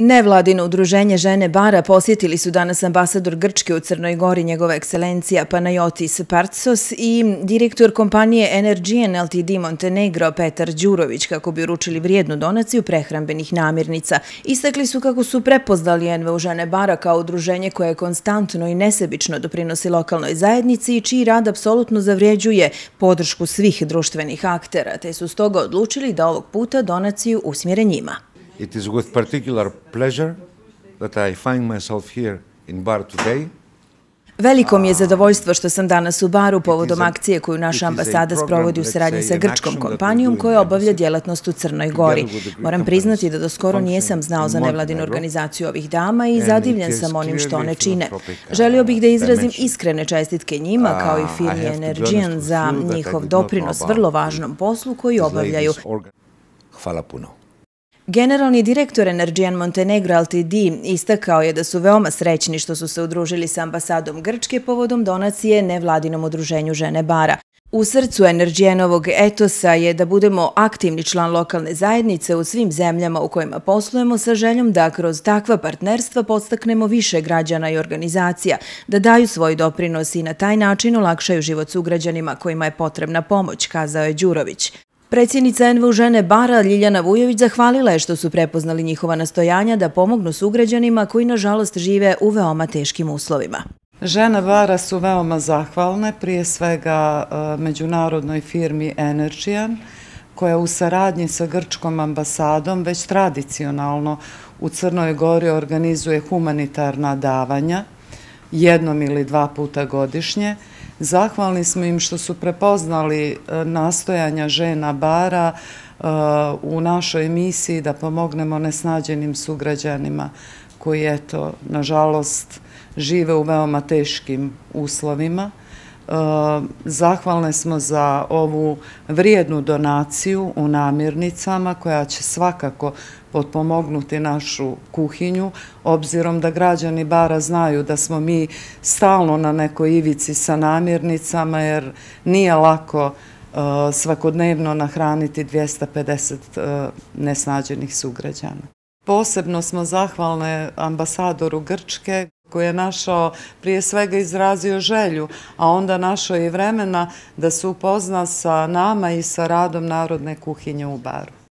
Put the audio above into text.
Nevladino udruženje Žene Bara posjetili su danas ambasador Grčke u Crnoj Gori, njegova ekscelencija Panayotis Partsos, i direktor kompanije Energean Ltd Montenegro Petar Đurović, kako bi uručili vrijednu donaciju prehrambenih namirnica. Istakli su kako su prepoznali NVO Žene Bara kao udruženje koje konstantno i nesebično doprinosi lokalnoj zajednici i čiji rad apsolutno zavređuje podršku svih društvenih aktera, te su stoga odlučili da ovog puta donaciju usmjere njima. It is with particular pleasure that I find myself here in Bar today. Veliko mi je zadovoljstvo što sam danas u Baru povodom akcije koju naša ambasada sprovodi u saradnji sa grčkom kompanijom koja obavlja djelatnost u Crnoj Gori. Moram priznati da do skoro nijesam znao za nevladinu organizaciju ovih dama i zadivljen sam onim što one čine. Želio bih da izrazim iskrene čestitke njima kao i firmi Energean za njihov doprinos vrlo važnom poslu koji obavljaju. Hvala puno. Generalni direktor Energean Montenegro Ltd istakao je da su veoma srećni što su se udružili sa ambasadom Grčke povodom donacije nevladinom udruženju Žene Bara. U srcu Energeanovog etosa je da budemo aktivni član lokalne zajednice u svim zemljama u kojima poslujemo sa željom da kroz takva partnerstva podstaknemo više građana i organizacija, da daju svoj doprinos i na taj način olakšaju život sugrađanima kojima je potrebna pomoć, kazao je Đurović. Predsjednica NVO Žene Bara Ljiljana Vujović zahvalila je što su prepoznali njihova nastojanja da pomognu sugrađanima koji nažalost žive u veoma teškim uslovima. Žene Bara su veoma zahvalne, prije svega međunarodnoj firmi Energean, koja u saradnji sa grčkom ambasadom već tradicionalno u Crnoj Gori organizuje humanitarna davanja jednom ili dva puta godišnje. Zahvalni smo im što su prepoznali nastojanja Žena Bara u našoj emisiji da pomognemo nesnađenim sugrađanima koji, eto, nažalost, žive u veoma teškim uslovima. Zahvalne smo za ovu vrijednu donaciju u namirnicama koja će svakako potpomognuti našu kuhinju, obzirom da građani Bara znaju da smo mi stalno na nekoj ivici sa namirnicama, jer nije lako svakodnevno nahraniti 250 nesnađenih sugrađana. Posebno smo zahvalne ambasadoru Grčke, koji je našao, prije svega izrazio želju, a onda našao i vremena da se upozna sa nama i sa radom Narodne kuhinje u Baru.